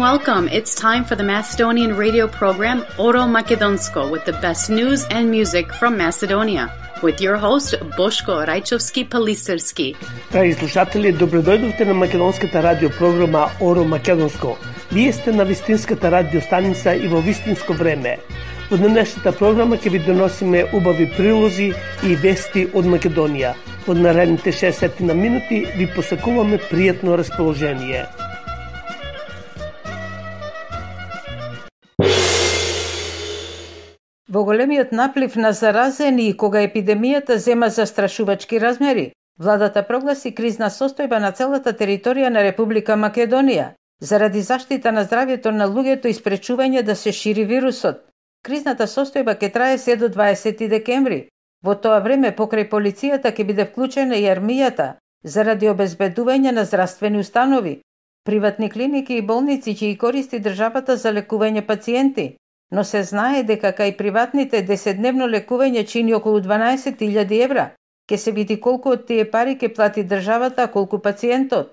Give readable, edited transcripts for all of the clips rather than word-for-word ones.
welcome. It's time for the Macedonian radio program Oro Makedonsko with the best news and music from Macedonia. With your host, Boško Rajčovski-Palisarski. Драги слушатели, добродојдовте на македонската радиопрограма Оро Македонско. Вие сте на вистинската радиостаница и во вистинско време. Во денешната програма ќе ви доносиме убави прилози и вести од Македонија. Од наредните 60 минути ви посакуваме пријатно расположение. Во големиот наплив на заразени и кога епидемијата зема застрашувачки размери, владата прогласи кризна состојба на целата територија на Република Македонија, заради заштита на здравјето на луѓето и спречување да се шири вирусот. Кризната состојба ќе трае се до 20 декември. Во тоа време покрај полицијата ќе биде вклучена и армијата заради обезбедување на здравствени установи, приватни клиники и болници ќе ги користи државата за лекување пациенти. Но се знае дека кај приватните 10-дневно лекување чини околу 12.000 евра. Ке се види колку од тие пари ке плати државата, а колку пациентот.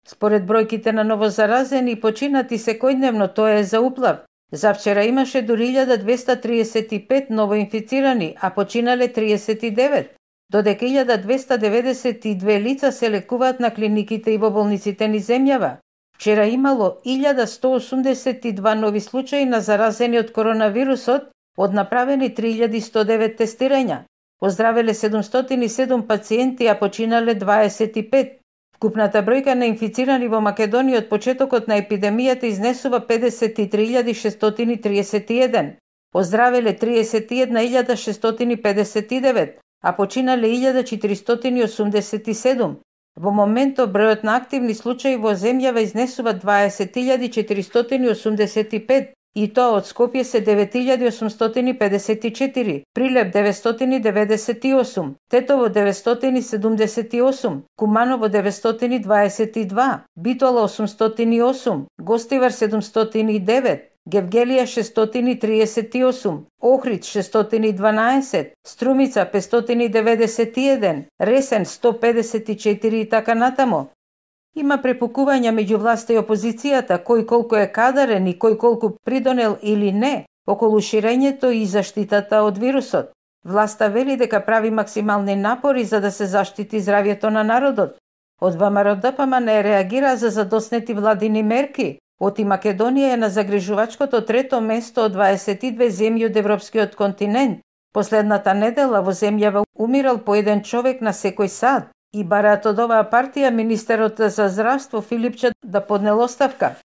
Според бројките на новозаразени и починати секојдневно, тоа е за уплав. Завчера имаше дури 1235 новоинфицирани, а починале 39, додека 1292 лица се лекуваат на клиниките и во болниците ни земјава. Вчера имало 1182 нови случаи на заразени од коронавирусот, од направени 3109 тестирања. Оздравеле 707 пациенти, а починале 25. Вкупната бројка на инфицирани во Македонија од почетокот на епидемијата изнесува 53.631. Оздравеле 31.659, а починале 1487. Во моментот бројот на активни случаи во земјава изнесува 20.485 и тоа од Скопје се 9.854, Прилеп 998, Тетово 978, Куманово 922, Битола 808, Гостивар 709, Гевгелија 638, Охрид 612, Струмица 591, Ресен 154 и така натамо. Има препукувања меѓу власта и опозицијата, кој колку е кадарен и кој колку придонел или не околу ширењето и заштитата од вирусот. Власта вели дека прави максимални напори за да се заштити здравјето на народот. Од ВМРО-ДПМН не реагира за задоснети владини мерки. Оти Македонија е на загрижувачкото трето место од 22 земји од европскиот континент. Последната недела во земјава умирал по еден човек на секој сат и бараат од оваа партија министерот за здравство Филипче да поднел оставка.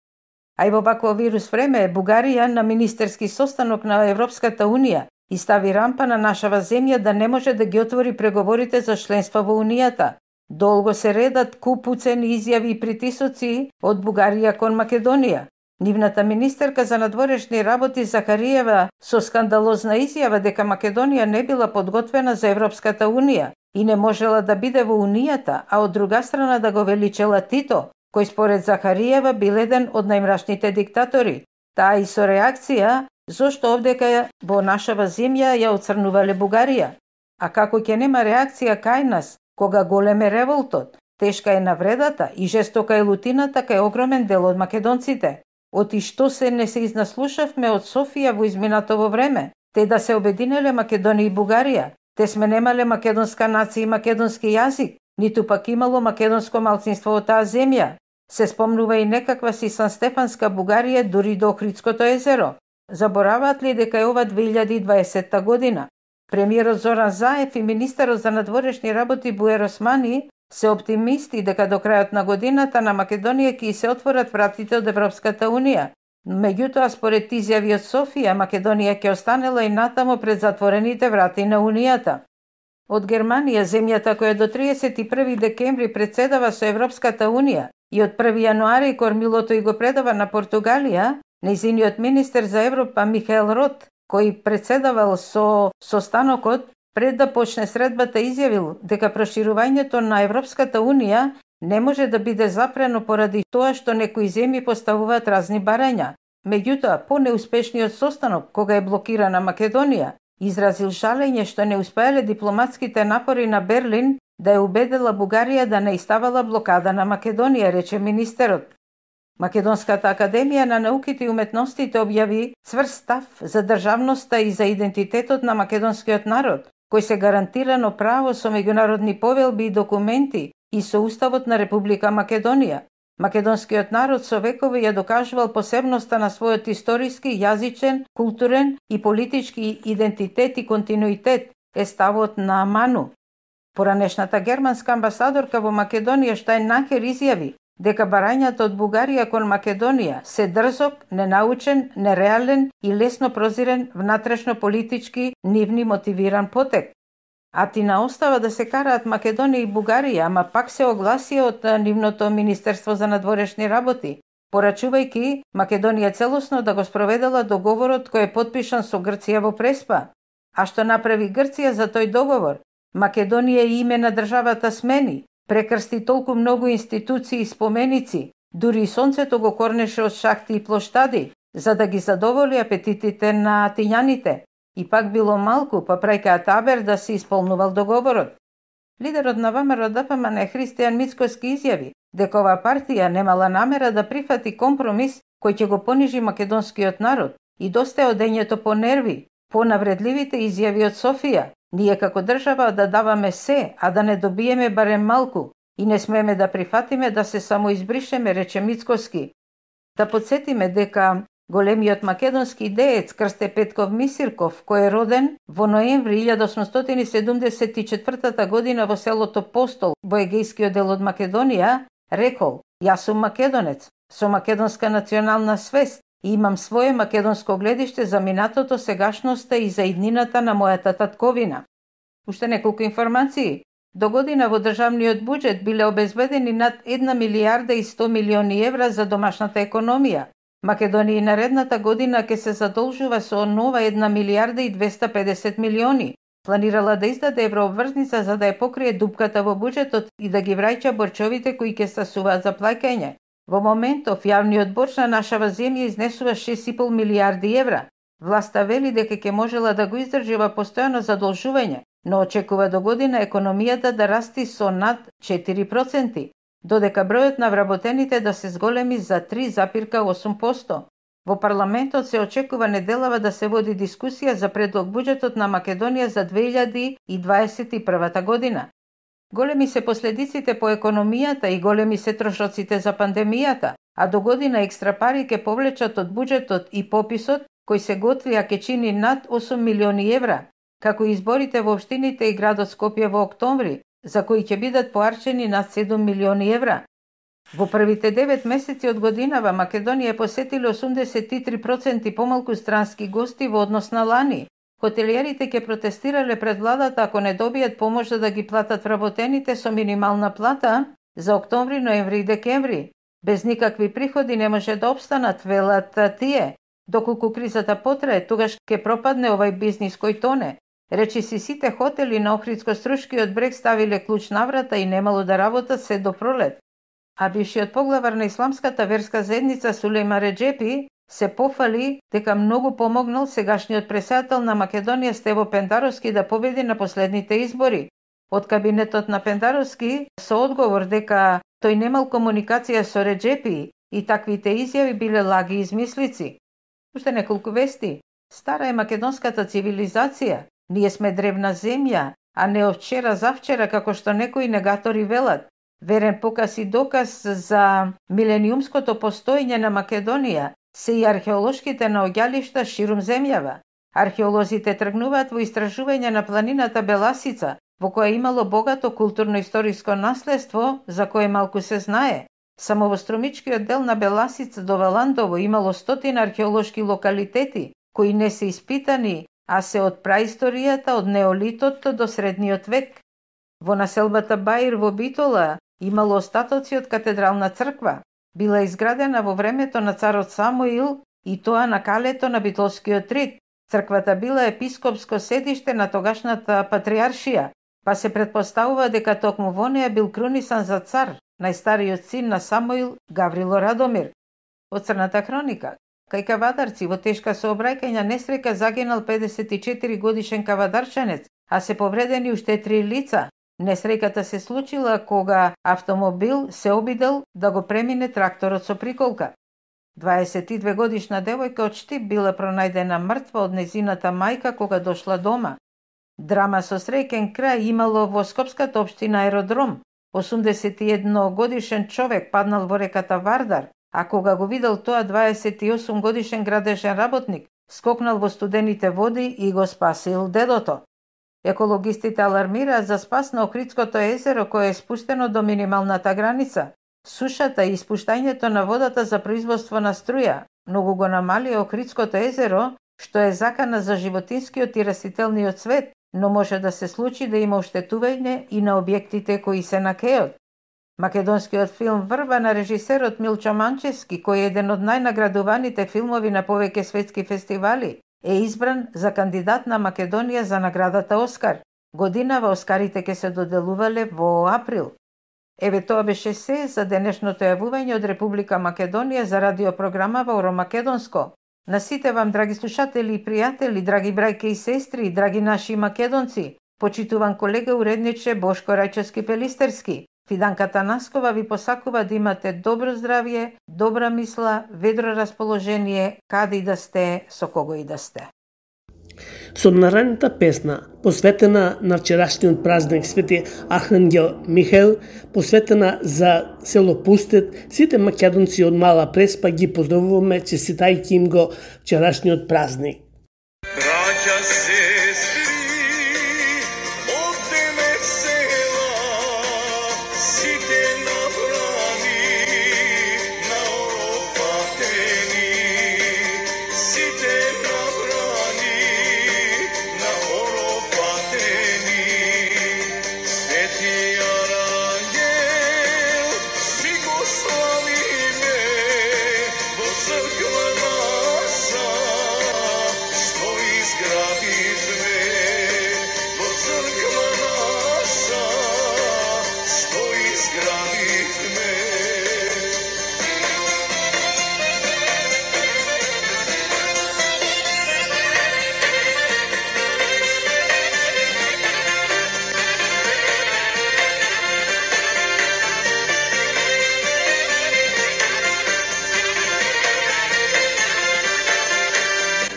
А и во вакво вирус време Бугарија на министерски состанок на Европската Унија и стави рампа на нашава земја да не може да ги отвори преговорите за членство во Унијата. Долго се редат купуцени изјави и притисоци од Бугарија кон Македонија. Нивната министерка за надворешни работи Захариева со скандалозна изјава дека Македонија не била подготвена за Европската Унија и не можела да биде во Унијата, а од друга страна да го величела Тито, кој според Захариева бил еден од најмрачните диктатори. Таа и со реакција зошто овдека во нашава земја ја оцрнувале Бугарија. А како ќе нема реакција кај нас, кога голем е револтот, тешка е навредата и жестока е лутината кај огромен дел од македонците. Оти што се не се изнаслушавме од Софија во изминатово време, те да се обединеле Македонија и Бугарија. Те сме немале македонска нација и македонски јазик, ниту пак имало македонско малцинство во таа земја. Се спомнува и некаква си Санстефанска Бугарија дури до Охридското езеро. Забораваат ли дека е ова 2020 година? Премиерот Зоран Заев и министерот за надворешни работи Буер Османи се оптимисти дека до крајот на годината на Македонија ќе се отворат вратите од Европската Унија. Меѓутоа, според изјави од Софија, Македонија ќе останела и натамо пред затворените врати на Унијата. Од Германија, земјата која до 31 декември председава со Европската Унија и од 1 јануари кормилото и го предава на Португалија, нејзиниот министер за Европа Михаел Рот, кој председавал со состанокот, пред да почне средбата изјавил дека проширувањето на Европската Унија не може да биде запрено поради тоа што некои земји поставуваат разни барања. Меѓутоа, по неуспешниот состанок, кога е блокирана Македонија, изразил жалење што не успеале дипломатските напори на Берлин да ја убедела Бугарија да не иставала блокада на Македонија, рече министерот. Македонската академија на науките и уметностите објави цврст став за државноста и за идентитетот на македонскиот народ, кој се гарантирано право со меѓународни повелби и документи и со Уставот на Република Македонија. Македонскиот народ со векови ја докажувал посебноста на својот историски, јазичен, културен и политички идентитет и континуитет е ставот на Ману. Поранешната германска амбасадорка во Македонија Штајнакер изјави дека барањето од Бугарија кон Македонија се дрзок, ненаучен, нереален и лесно прозирен внатрешно политички нивни мотивиран потек. Атина остава да се караат Македонија и Бугарија, ама пак се огласија од нивното Министерство за надворешни работи, порачувајќи Македонија целосно да го спроведела договорот кој е подпишан со Грција во Преспа. А што направи Грција за тој договор? Македонија и име на државата смени, прекрсти толку многу институции и споменици, дури и сонцето го корнеше од шахти и плоштади, за да ги задоволи апетитите на атињаните. И пак било малку, па прајка табер да се исполнувал договорот. Лидерот на ВМРО ДПМН Христијан Мицкоски изјави дека оваа партија немала намера да прифати компромис кој ќе го понижи македонскиот народ и доста е одењето по нерви, по навредливите изјави од Софија. Ние како држава да даваме се, а да не добиеме барем малку и не смееме да прифатиме да се самоизбришеме, рече Мицкоски. Да подсетиме дека големиот македонски деец Крсте Петков Мисирков, кој е роден во ноември 1874 година во селото Постол во егејскиот дел од Македонија, рекол: "Јас сум македонец, со македонска национална свест и имам свое македонско гледиште за минатото, сегашноста и за иднината на мојата татковина." Уште неколку информации. До година во државниот буџет биле обезбедени над 1 милијарда и 100 милиони евра за домашната економија. Македонија наредната година ќе се задолжува со нова 1 милијарда и 250 милиони. Планирала да издаде еврообврзница за да ја покрие дупката во буџетот и да ги враќа борчовите кои ќе стасуваат за плаќање. Во моментов јавниот борч на нашава земја изнесува 6,5 милијарди евра. Власта вели дека ќе можела да го издржива постојано задолжување, но очекува до година економијата да расти со над 4%, додека бројот на вработените да се зголеми за 3,8%. Во парламентот се очекува неделава да се води дискусија за предлог буџетот на Македонија за 2021 година. Големи се последиците по економијата и големи се трошоците за пандемијата, а до година екстра пари ќе повлечат од буџетот и пописот кој се готви, а ќе чини над 8 милиони евра, како и изборите во општините и градот Скопје во октомври, за кои ќе бидат поарчени над 7 милиони евра. Во првите 9 месеци од годинава Македонија посетиле 83% помалку странски гости во однос на лани. Хотелиерите ќе протестирале пред владата ако не добијат помош да ги платат вработените со минимална плата за октомври, ноември и декември. Без никакви приходи не може да обстанат, велат тие. Доколку кризата потрае, тогаш ќе пропадне овај бизнис кој тоне. Речиси сите хотели на Охридско-Струшкиот брег ставиле клуч на врата и немало да работат се до пролет. А бившиот поглавар на исламската верска заедница Сулејман Реџепи се пофали дека многу помогнал сегашниот председател на Македонија Стево Пендаровски да победи на последните избори. Од кабинетот на Пендаровски со одговор дека тој немал комуникација со Реџепи и таквите изјави биле лаги и измислици. Уште неколку вести. Стара е македонската цивилизација. Ние сме древна земја, а не од вчера завчера како што некои негатори велат. Верен показ и доказ за милениумското постоење на Македонија се и археолошките наоѓалишта ширум земјава. Археолозите тргнуваат во истражување на планината Беласица, во која имало богато културно-историско наследство, за кое малку се знае. Само во струмичкиот дел на Беласица до Валандово имало 100 археолошки локалитети, кои не се испитани, а се од праисторијата, од неолитот до средниот век. Во населбата Баир во Битола имало остатоци од катедрална црква. Била изградена во времето на царот Самуил и тоа на калето на Битолскиот рид. Црквата била епископско седиште на тогашната патриаршија, па се претпоставува дека токму во неја бил крунисан за цар, најстариот син на Самуил, Гаврило Радомир. Од Црната хроника. Кај кавадарци во тешка сообраќајна несреќа загинал 54 годишен кавадарчанец, а се повредени уште 3 лица. Несреќата се случила кога автомобил се обидел да го премине тракторот со приколка. 22 годишна девојка од Штип била пронајдена мртва од незината мајка кога дошла дома. Драма со среќен крај имало во скопската општина Аеродром. 81 годишен човек паднал во реката Вардар, а кога го видел тоа 28 годишен градежен работник, скокнал во студените води и го спасил дедото. Екологистите алармираат за спас на Охридското езеро кое е спуштено до минималната граница. Сушата и испуштањето на водата за производство на струја многу го намали Охридското езеро, што е закана за животинскиот и растителниот свет, но може да се случи да има оштетување и на објектите кои се на кејот. Македонскиот филм Врба на режисерот Милчо Манчевски, кој е еден од најнаградуваните филмови на повеќе светски фестивали, е избран за кандидат на Македонија за наградата Оскар. Годинава Оскарите ќе се доделувале во април. Еве тоа беше се за денешното јавување од Република Македонија за радиопрограма во Оромакедонско. На сите вам, драги слушатели и пријатели, драги брајке и сестри, драги наши македонци, почитуван колега уредниче Бошко Рајчовски Пелистерски, Фиданка Танаскова ви посакува да имате добро здравје, добра мисла, ведро расположение, каде и да сте, со кого и да сте. Со наредната песна, посветена на вчерашниот празник Свети Архангел Михаил, посветена за село Пустет, сите македонци од Мала Преспа ги поздравуваме, честитајќи им го вчерашниот празник. Браќа, сестри, од Демет села, сите набрани, наопатени, сите набрани, наопатени, Свети Арангел, си го славиме, во црква наша, што изградивме, во црква наша, што изградивме.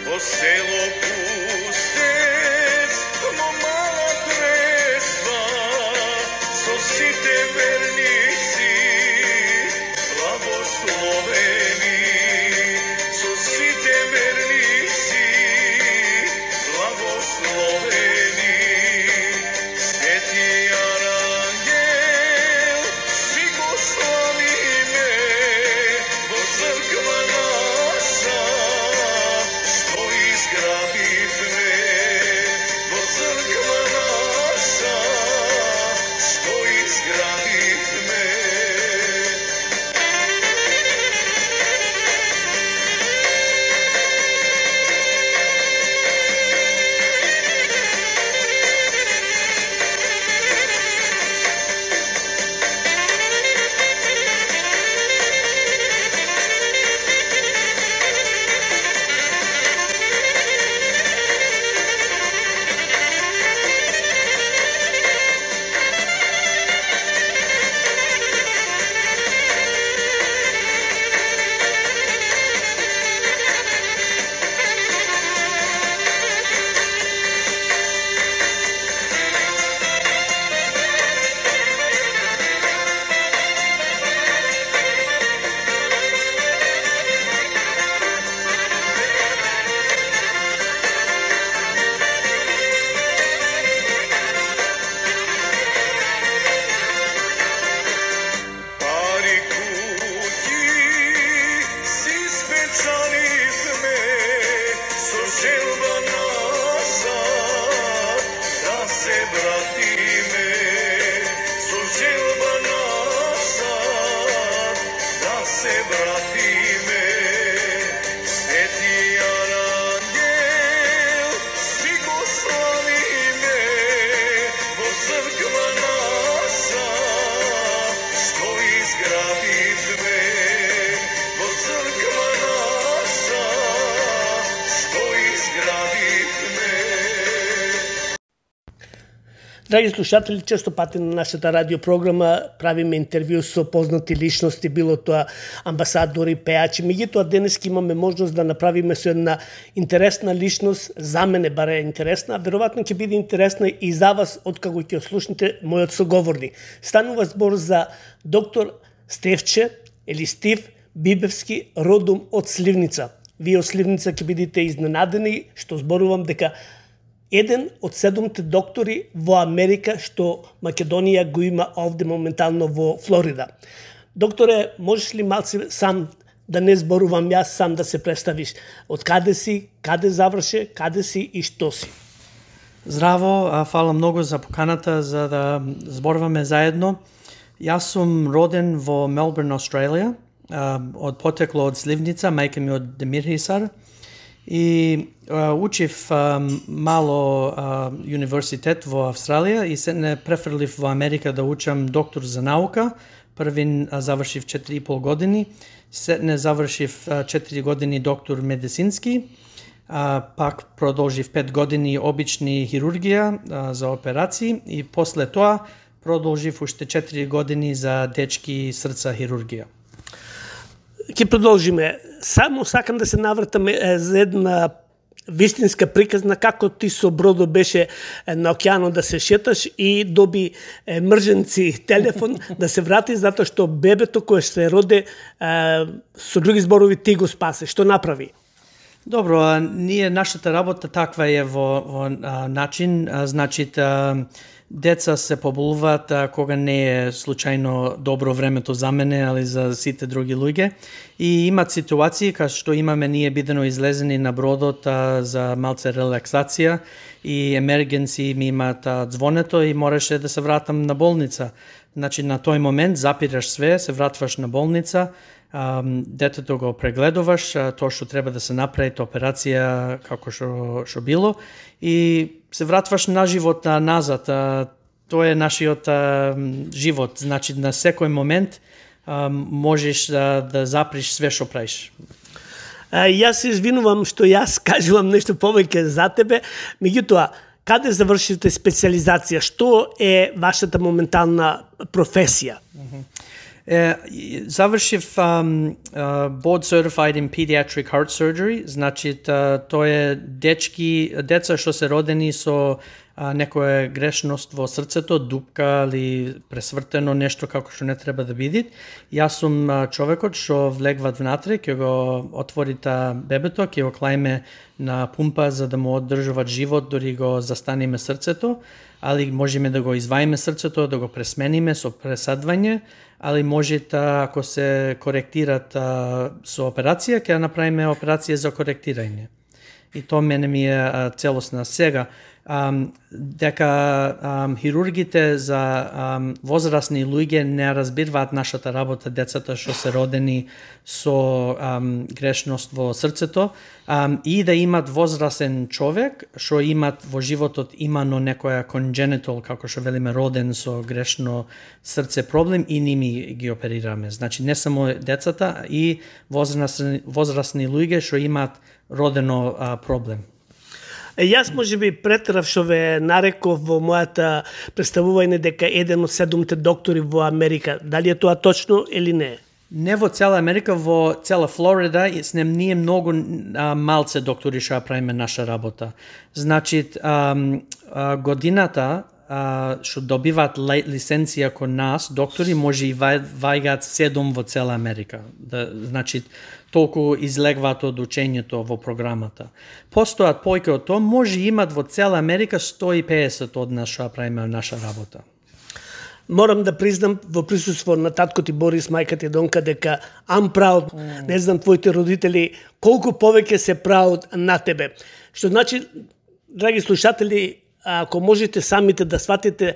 Во село Пустец, во Мала Преспа, со сите верници, благословени, со сите верници, благословени, Свети Арангел, си го славиме, во црква наша, што изградивме, во црква наша, што изградивме. Пари куќи си спечаливме, со желба наша да се вратиме, со желба наша да се вратиме. Свети Арангел, си го славиме, во црква наша, што изградивме, во црква наша, што изградивме. Драги слушатели, често пати на нашата радиопрограма правиме интервју со познати личности, било тоа амбасадори, пеачи. Меѓутоа денес имаме можност да направиме со една интересна личност, за мене баре интересна, а веројатно ќе биде интересна и за вас откако ќе слушнете мојот соговорник. Станува збор за доктор Стефче или Стив Бибевски, родом од Сливница. Вие од Сливница ќе бидете изненадени што зборувам дека еден од 7 доктори во Америка што Македонија го има овде моментално во Флорида. Докторе, можеш ли малце сам, да не зборувам јас, сам да се представиш? Од каде си, каде заврше, каде си и што си? Здраво, фала многу за поканата за да зборуваме заедно. Јас сум роден во Мелбурн, Австралија, од потекло од Сливница, мајка ми од Демирхисар. И учив мало универзитет во Австралија и се не префрлив во Америка да учам доктор за наука. Првин завршив 4,5 години, се не завршив 4 години доктор медицински, пак продолжив 5 години обични хирургија за операции и после тоа продолжив уште 4 години за дечки срца хирургија. Ќе продолжиме. Само сакам да се навратаме за една вистинска приказна како ти со бродо беше на океанот да се шеташ и доби мрженци телефон да се врати затоа што бебето кое се роде со други зборови ти го спасе. Што направи? Добро, нашата работа таква е во начин, значи деца се поболуваат кога не е случајно добро времето за мене, али за сите други луѓе. И имат ситуации кај што имаме ние бидено излезени на бродот за малце релаксација и емергенци ми имаат звонето и мораше да се вратам на болница. Значи на тој момент запираш све, се вратваш на болница, детето го прегледуваш, тоа што треба да се направи, операција како што било и се вратваш на живот назад. Тоа е нашиот живот, значи на секој момент можеш да заприш све што правиш. Јас се извинувам што јас кажувам нешто повеќе за тебе, меѓутоа каде завршивте специализација? Што е вашата моментална професија? Завршив board certified in pediatric heart surgery, значи тоа е деца што се родени со некоја грешност во срцето, дупка или пресвртено нешто како што не треба да биде. Јас сум човекот што влегват внатре, ќе го отвори бебето, ќе го клајме на пумпа за да му одржуваат живот, дори го застаниме срцето, али можеме да го изваиме срцето, да го пресмениме со пресадвање, али може ако се коректират со операција, ќе направиме операција за коректирање. И тоа мене ми е целосна. Сега, дека хирургите за возрастни луѓе не разбираат нашата работа, децата што се родени со грешност во срцето, и да имат возрастен човек што имат во животот имано некоја congenital, како што велиме, роден со грешно срце проблем и ними ги оперираме. Значи не само децата, и возрастни луѓе што имаат родено проблем. Јас можеби претерав што ве нареков во мојата представување дека еден од 7 доктори во Америка. Дали е тоа точно или не? Не во цела Америка, во цела Флорида ние многу малце доктори што правиме наша работа. Значи годината што добиваат лиценција кон нас, доктори може и ваѓаат 7 во цела Америка. Значи толку излегваат од учењето во програмата. Постојат појке од тоа, може имат во цела Америка 150 од нас што правиме наша работа. Морам да признам во присуство на татко ти Борис, мајка ти Донка, дека I'm proud, не знам твоите родители колку повеќе се proud на тебе. Што значи, драги слушатели, ако можете самите да сватите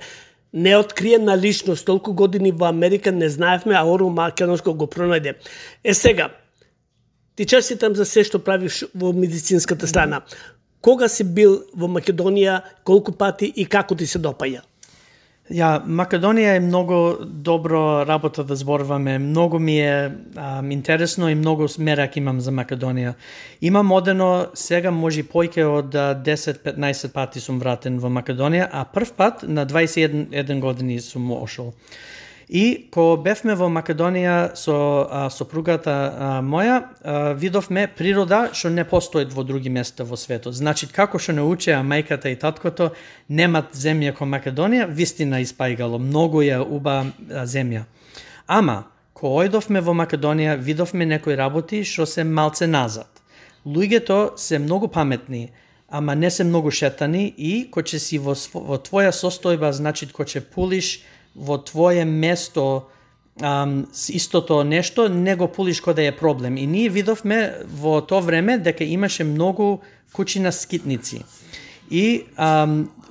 неоткриена личност, толку години во Америка не знаевме, а Оро Македонско го пронајде. Сега, ти честитам за се што правиш во медицинската страна. Кога си бил во Македонија, колку пати и како ти се допаја? Македонија е многу добро работа да зборуваме. Многу ми е интересно и многу мерак имам за Македонија. Имам одено сега може појќе од 10-15 пати сум вратен во Македонија, а прв пат на 21 години сум ошол. И кога бевме во Македонија со сопругата моја, видовме природа што не постои во други места во светот. Значи, како што научеа мајката и таткото, немат земја ко Македонија, вистина испајгало. Многу е уба земја. Ама, кога ојдовме во Македонија, видовме некои работи што се малце назад. Луѓето се многу паметни, ама не се многу шетани и кој ќе си во твоја состојба, значи кој ќе пулиш во твое место истото нешто, не го пулиш кога да е проблем. И ние видовме во тоа време дека имаше многу куќи на скитници. И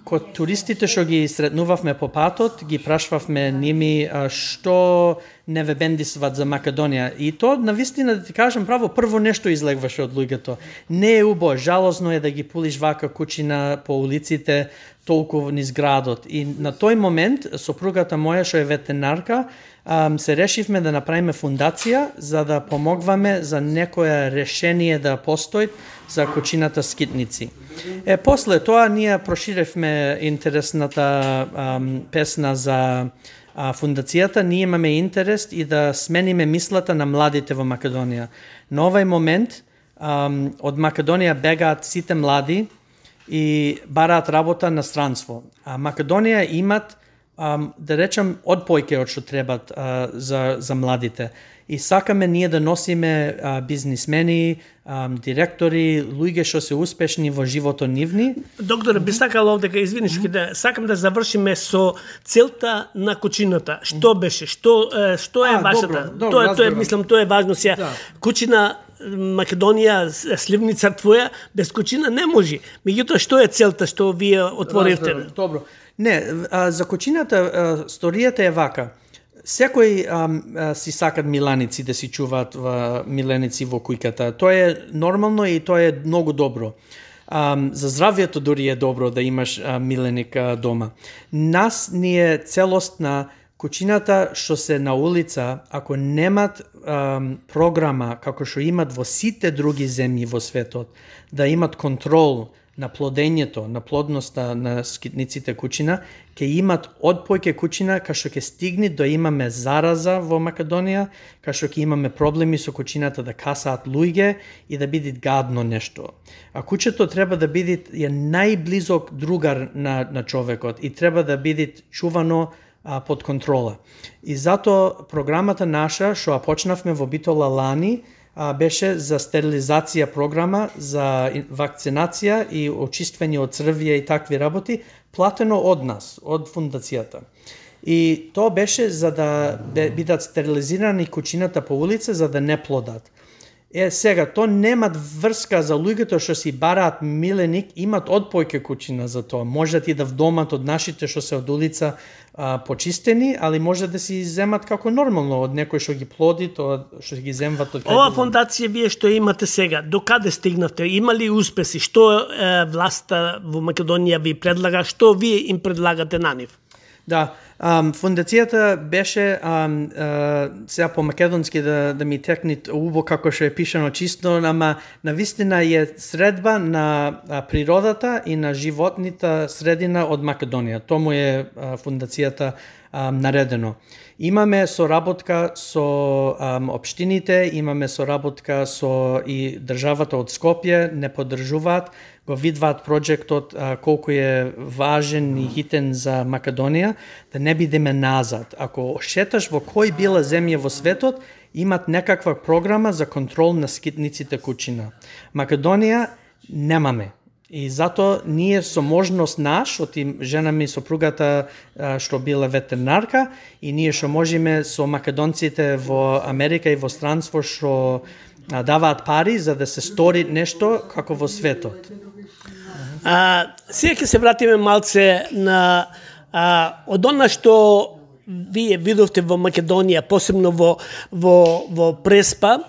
кога туристите што ги сретнувавме по патот, ги прашвавме ними што не ве бендисват за Македонија. И то, навистина, да ти кажам право, прво нешто излегваше од луѓето. Не е убаво, жалозно е да ги пулиш вака куќина по улиците, толку низ градот. И на тој момент, сопругата моја, што е ветеринарка, се решивме да направиме фундација за да помогваме за некое решение да постои за куќината скитници. После тоа ние проширевме интересната песна за фундацијата. Ние имаме интерес и да смениме мислата на младите во Македонија. На овај момент од Македонија бегаат сите млади и бараат работа на странство. А Македонија имат, да речем, од појќе од што требат за младите. И сакаме ние да носиме бизнисмени, директори, луѓе што се успешни во животот нивни. Доктор, би сакал овдека, извиниш, сакам да завршиме со целта на куќината. Што беше? Што е вашата? Тоа е важно сега. Да. Куќина Македонија, сливница твоја, без куќина не може. Меѓутоа, што е целта што вие отворивте? Добро. Не, за куќината сторијата е вака. Секој си сакат миланици да си чуваат миленици во кујката. Тоа е нормално и тоа е многу добро. За здравјето дури е добро да имаш миленик дома. Нас ни е целостна куќината што се на улица, ако немат програма како што имат во сите други земји во светот, да имат контрол на плодењето, на плодноста на скитниците куќина, ќе имат од појќе куќина, кај што ќе стигне да имаме зараза во Македонија, кај што ќе имаме проблеми со куќината да касаат луѓе и да биде гадно нешто. А куќето треба да биде најблизок другар на човекот и треба да биде чувано под контрола. И затоа програмата наша, што почнавме во Битола лани, беше за стерилизација програма, за вакцинација и очиствање од црвија и такви работи, платено од нас, од фундацијата. И тоа беше за да бидат стерилизирани куќината по улица, за да не плодат. Сега, то немат врска за луѓето што си бараат миленик, имат од појќе куќина за тоа. Можат и да вдомат од нашите што се од улица почистени, али може да си земат како нормално од некој што ги плоди, тоа што ги земват од. Ова фондација вие што имате сега, до каде стигнавте? Има ли успеси? Што власта во Македонија ви предлага? Што вие им предлагате на нив? Да, фундацијата беше сега по македонски да ми текне убо како што е пишано чисто, ама навистина е средба на природата и на животната средина од Македонија. Тому е фундацијата наредено. Имаме соработка со општините, имаме соработка со и државата од Скопје, не поддржуваат, го видваат проектот колку е важен и хитен за Македонија, да не бидеме назад. Ако шеташ во кој била земја во светот, имат некаква програма за контрол на скитниците куќина. Македонија немаме. И затоа ние со можност наш, од жена ми сопругата што била ветеринарка, и ние што можеме со македонците во Америка и во странство што даваат пари за да се стори нешто како во светот. Сега ќе се вратиме малце на од она што вие видовте во Македонија, посебно во Преспа.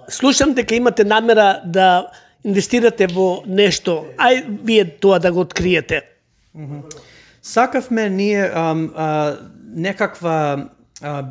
Слушам дека имате намера да инвестирате во нешто. Ај вие тоа да го откриете. Сакавме ние некаква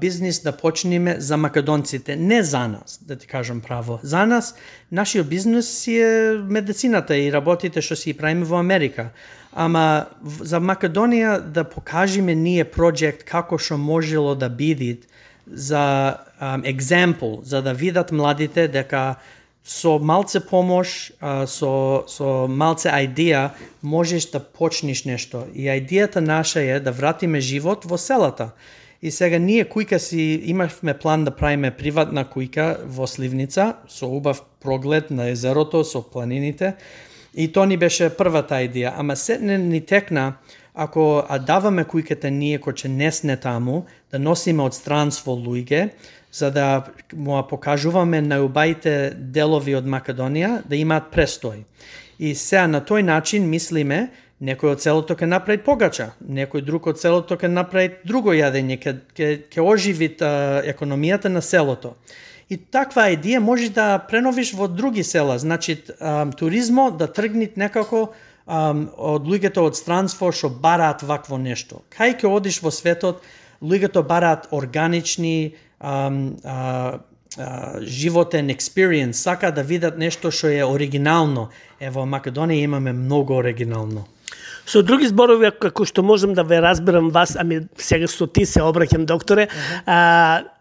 бизнис да почнеме за македонците, не за нас, да ти кажам право. За нас, нашиот бизнис е медицината и работите што си правиме во Америка. Ама за Македонија да покажеме ние проект како што можело да биде за екземпл, за да видат младите дека со малце помош, со малце идеја можеш да почнеш нешто. И идејата наша е да вратиме живот во селата. И сега ние кујка си имавме план да правиме приватна кујка во Сливница со убав проглед на езерото, со планините. И то ни беше првата идеја. Ама сетне ни текна, ако даваме кујката ние кој че не сне таму, да носиме од странство луѓе, за да му покажуваме најубаите делови од Македонија да имаат престој. И сега на тој начин мислиме, некој од селото ќе направи погача, некој друг од селото ќе направи друго јадење, ќе оживи економијата на селото. И таква идеја можеш да преновиш во други села, значи туризмо да тргне некако од луѓето од странство што бараат вакво нешто. Кај ќе одиш во светот, луѓето бараат органични животен experience, сака да видат нешто што е оригинално. Во Македонија имаме многу оригинално. Со други зборови, како што можам да ве разберам вас, ами сега со ти се обраќам, докторе,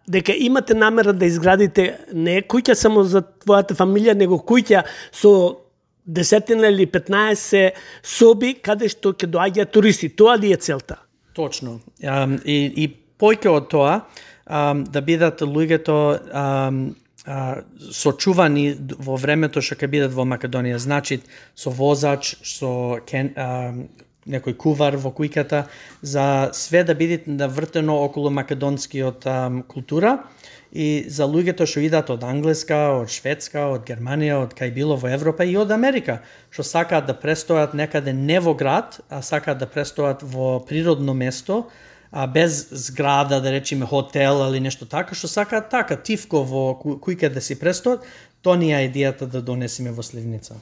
дека имате намера да изградите не куќа само за твојата фамилија, него куќа со 10 или 15 соби каде што ќе доаѓаат туристи. Тоа ли е целта? Точно. И појќе од тоа, да бидат луѓето сочувани во времето што ќе бидат во Македонија. Значи, со возач, со некој кувар во кујката, за све да биде навртено околу македонскиот култура и за луѓето што идат од Англиска, од Шведска, од Германија, од кај било во Европа и од Америка, што сакаат да престојат некаде не во град, а сакаат да престојат во природно место, без зграда, да речеме хотел или нешто така, што сакаат така, тивко во кујка да си престојат, то ни е идејата да донесеме во Сливница.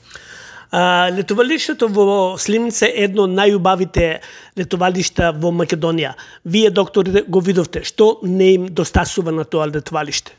Летовалиштето во Сливница е едно од најубавите летовалишта во Македонија. Вие, докторите, го видовте. Што не им достасува на тоа летовалиште?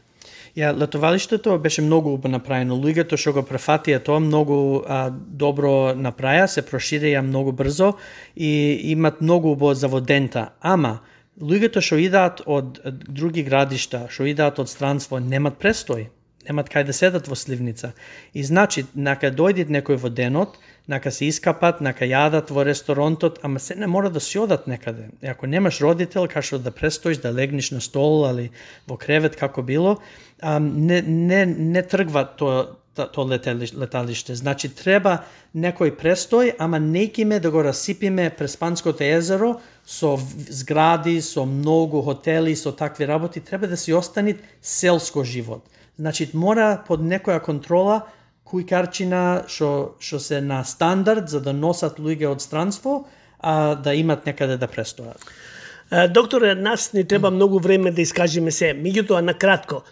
Летовалиштето беше многу направено. Луѓето што го префатија тоа многу добро направија, се проширија многу брзо и имат многу убаво заводента. Ама, луѓето што идат од други градишта, што идат од странство, немат престој. Немат кај да седат во Сливница. И значи, нака дојдат некој во денот, нака се искапат, нака јадат во ресторонтот, ама се не мора да си одат некаде. И ако немаш родител, кашо да престоиш, да легнеш на стол или во кревет, како било, не тргва то леталиште. Значи, треба некој престој, ама нејкиме да го расипиме през Панското езеро со згради, со многу хотели, со такви работи, треба да си остани селско живот. Значи, мора под некоја контрола кујкарчина што се на стандард за да носат луѓе од странство, да имат некаде да престојат. Докторе, нас не треба многу време да искажеме се. Меѓутоа, на кратко,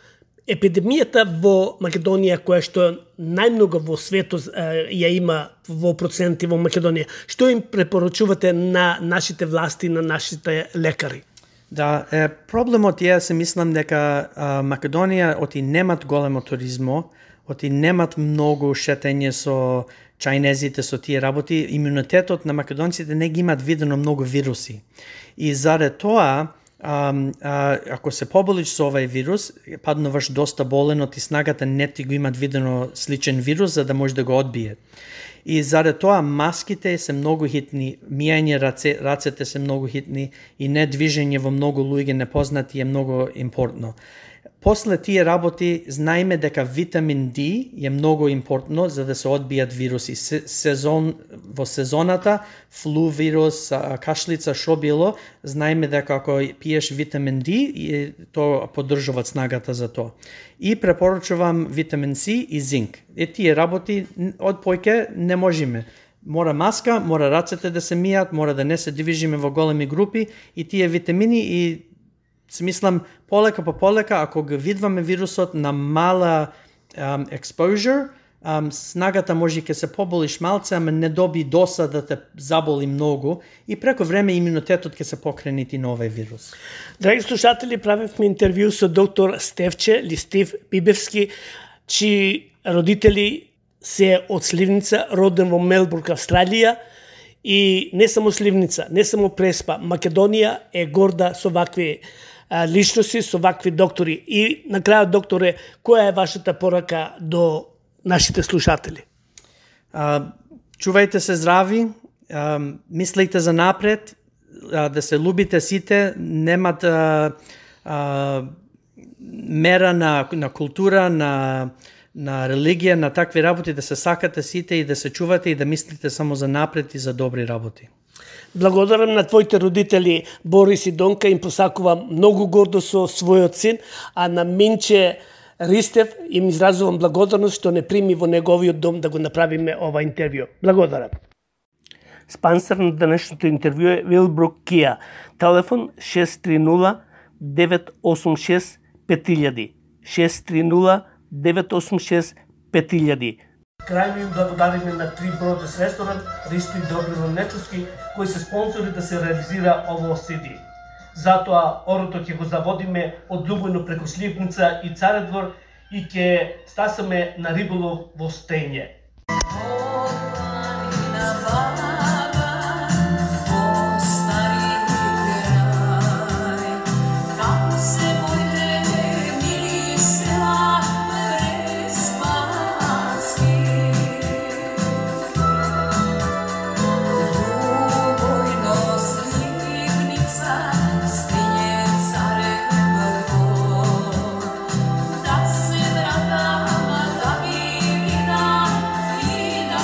епидемијата во Македонија, која што најмногу во светот ја има во проценти во Македонија, што им препорачувате на нашите власти, на нашите лекари? Да, проблемот е, се мислам дека Македонија оти немат големо туризмо, оти немат многу шетење со чајнезите, со тие работи, имунитетот на македонците не ги имат видено многу вируси. И заради тоа, ако се поболиш со овај вирус, паднуваш доста болен, оти снагата не ти го имат видено сличен вирус, за да може да го одбие. И заради тоа маските се многу хитни, мијање рацете се многу хитни и не движење во многу луѓе непознати е многу импортно. После тие работи знаеме дека витамин D е многу импортно за да се одбијат вируси. Во сезоната, флу вирус, кашлица, шо било, знаеме дека ако пиеш витамин D, то поддржуваат снагата за тоа. И препорачувам витамин С и зинк. Тие работи од појке не можеме. Мора маска, мора рацете да се мијат, мора да не се движиме во големи групи и тие витамини и смислам, полека по полека, ако го видваме вирусот на мала exposure, снагата може ќе се поболиш малце, ама не доби досад да те заболи многу и преко време имунитетот ќе се покренити на овој вирус. Драги слушатели, правевме интервју со доктор Стевче или Стив Бибевски, чии родители се од Сливница, роден во Мелбурн, Австралија, и не само Сливница, не само Преспа, Македонија е горда со вакви личности, со вакви доктори. И на крајот, докторе, која е вашата порака до нашите слушатели? Чувајте се здрави, мислите за напред, да се любите сите, немат мера на култура, на религија, на такви работи, да се сакате сите и да се чувате и да мислите само за напред и за добри работи. Благодарам на твоите родители Борис и Донка, им посакувам многу гордо со својот син, а на Минче Ристев им изразувам благодарност што не прими во неговиот дом да го направиме ова интервју. Благодарам. Спонсор на денешното интервју е Вилбрук Кија. Телефон 630-986-5000. 630-986-5000. Крајно им благодариме на Три Бродес ресторант, Ристо и Добрило Нечовски, кои се спонсори да се реализира ово CD. Затоа орото ќе го заводиме од Љубојно преку Сливница и Царедвор и ќе стасаме на риболов во Стење.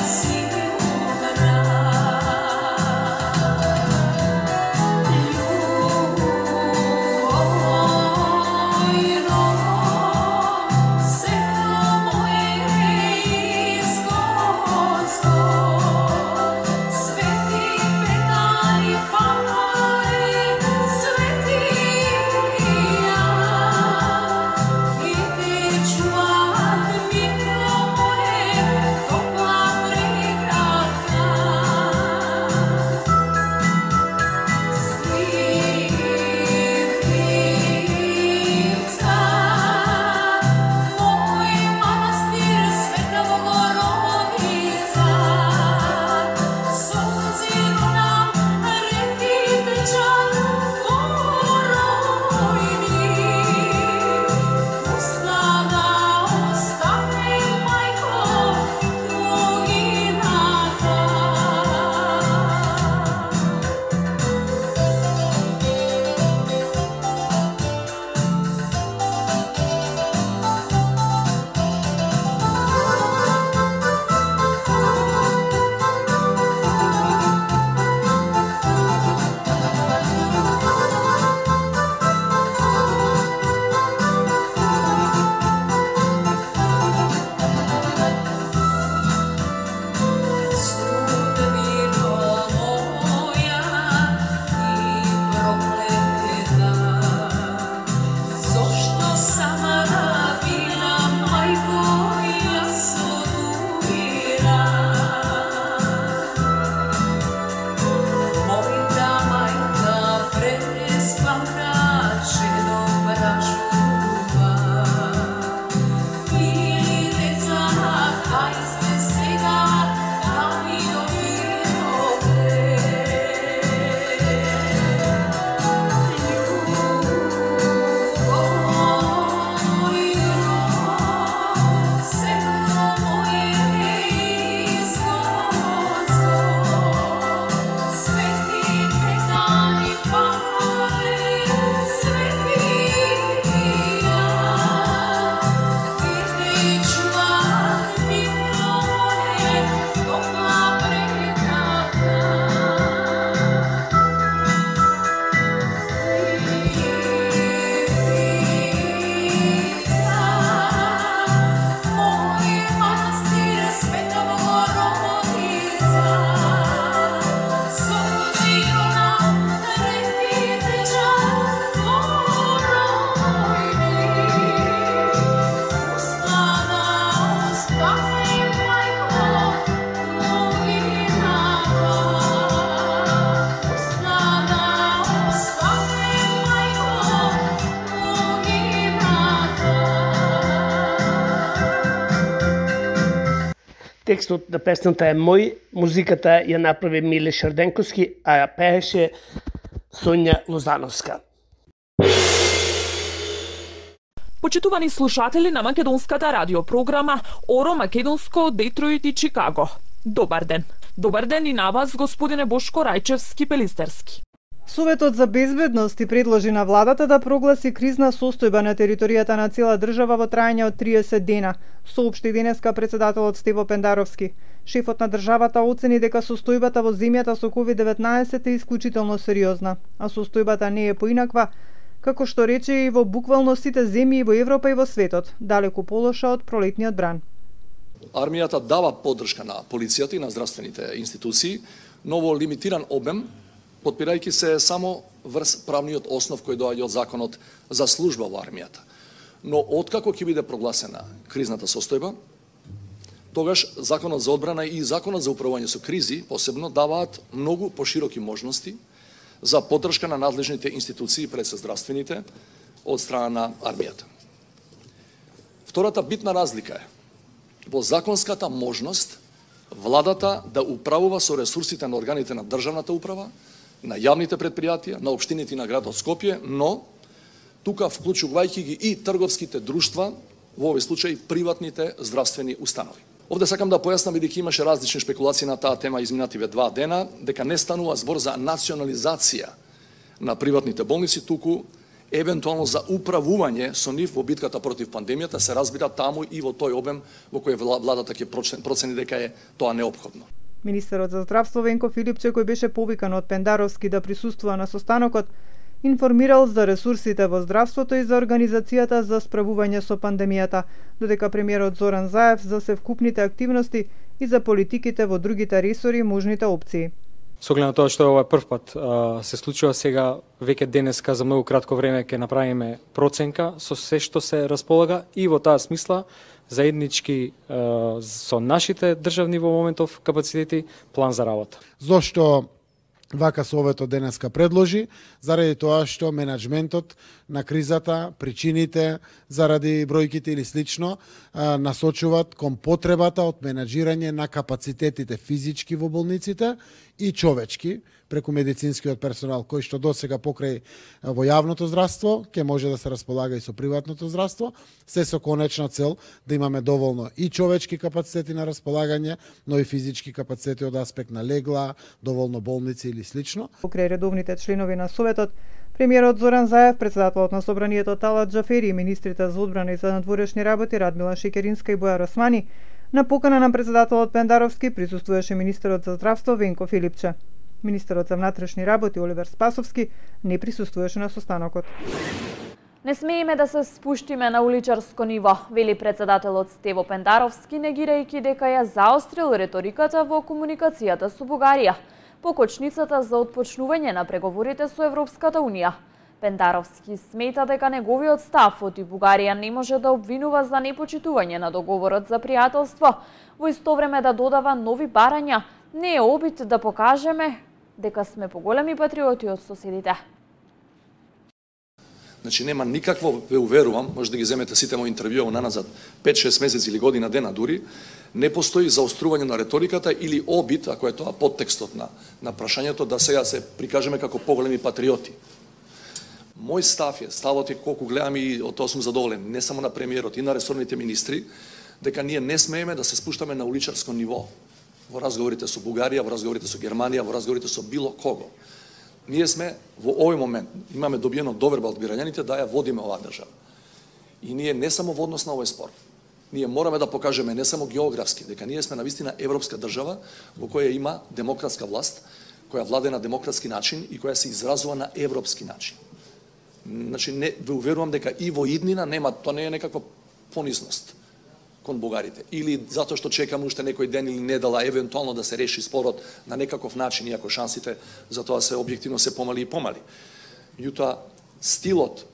See Текстот на песната е мој, музиката ја направи Миле Шарденковски, а ја пееше Сонја Лозановска. Почитувани слушатели на македонската радиопрограма Оро Македонско од Детройт и Чикаго. Добар ден. Добар ден и на вас, господине Бошко Рајчевски-Пелистерски. Советот за безбедност предложи на владата да прогласи кризна состојба на територијата на цела држава во трајање од 30 дена, соопшти денеска председателот Стево Пендаровски. Шефот на државата оцени дека состојбата во земјата со COVID-19 е исклучително сериозна, а состојбата не е поинаква, како што рече и во буквално сите земји во Европа и во светот, далеку полоша од пролетниот бран. Армијата дава поддршка на полицијата и на здравствените институции, но во лимитиран обем, подпирајќи се само врз правниот основ кој доаѓа од законот за служба во армијата. Но откако ќе биде прогласена кризната состојба, тогаш законот за одбрана и законот за управување со кризи посебно даваат многу пошироки можности за поддршка на надлежните институции пред се здравствените од страна на армијата. Втората битна разлика е во законската можност владата да управува со ресурсите на органите на државната управа, на јавните предпријатија, на општините и на градот Скопје, но тука вклучувајќи ги и трговските друштва, во овој случај приватните здравствени установи. Овде сакам да појаснам, бидејќи имаше различни спекулации на таа тема изминативе 2 дена, дека не станува збор за национализација на приватните болници, туку евентуално за управување со нив во битката против пандемијата, се разбира таму и во тој обем во кој владата ќе процени дека е тоа неопходно. Министерот за здравство Венко Филипче, кој беше повикан од Пендаровски да присуствува на состанокот, информирал за ресурсите во здравството и за организацијата за справување со пандемијата, додека премиерот Зоран Заев за севкупните активности и за политиките во другите ресори и можните опции. Со оглед на тоа што ова е прв пат се случува сега, веќе денеска за многу кратко време ќе направиме проценка со се што се располага и во таа смисла заеднички со нашите државни во моментов капацитети план за работа. Зошто вака Советот денеска предложи? Заради тоа што менеджментот на кризата, причините заради бројките или слично насочуваат кон потребата од менеджирање на капацитетите физички во болниците и човечки преку медицинскиот персонал кој што досега покрај во јавното здравство ќе може да се располага и со приватното здравство, се со конечна цел да имаме доволно и човечки капацитети на располагање, но и физички капацитети од аспект на легла, доволно болници или слично. Покрај редовните членови на Советот, премиерот Зоран Заев, председателот на Собранието Талат Џафери и министрите за одбрана и за надворешни работи Радмила Шекеринска и Бојар Османи, на покана на председателот Пендаровски присуствуваше министерот за здравство Венко Филипче. Министерот за внатрешни работи Оливер Спасовски не присуствуваше на состанокот. Не смееме да се спуштиме на уличарско ниво, вели председателот Стево Пендаровски, негирајќи дека ја заострил реториката во комуникацијата со Бугарија, покочницата за отпочнување на преговорите со Европската Унија. Пендаровски смета дека неговиот став оти Бугарија не може да обвинува за непочитување на договорот за пријателство, во исто време да додава нови барања, не е обид да покажеме дека сме поголеми патриоти од соседите. Значи нема никакво, ве уверувам, може да ги земете сите мои интервјуа наназад 5-6 месеци или година дена дури, не постои заострување на реториката или обид, ако е тоа подтекстот на прашањето, да сега се прикажеме како поголеми патриоти. Мој став е, ставот е колку гледам и од тоа сум задоволен, не само на премиерот и на ресорните министри, дека ние не смееме да се спуштаме на уличарско ниво во разговорите со Бугарија, во разговорите со Германија, во разговорите со било кого. Ние сме во овој момент, имаме добиено доверба од бирањаните да ја водиме оваа држава. И ние не само во однос на овој спор, ние мораме да покажеме не само географски, дека ние сме навистина европска држава во која има демократска власт, која владе на демократски начин и која се изразува на европски начин. Значи, не, ве уверувам дека и во иднина нема, тоа не е некаква понизност кон бугарите. Или затоа што чекаме уште некој ден или недела евентуално да се реши спорот на некаков начин, иако шансите за тоа се објективно се помали и помали. Меѓутоа, стилот,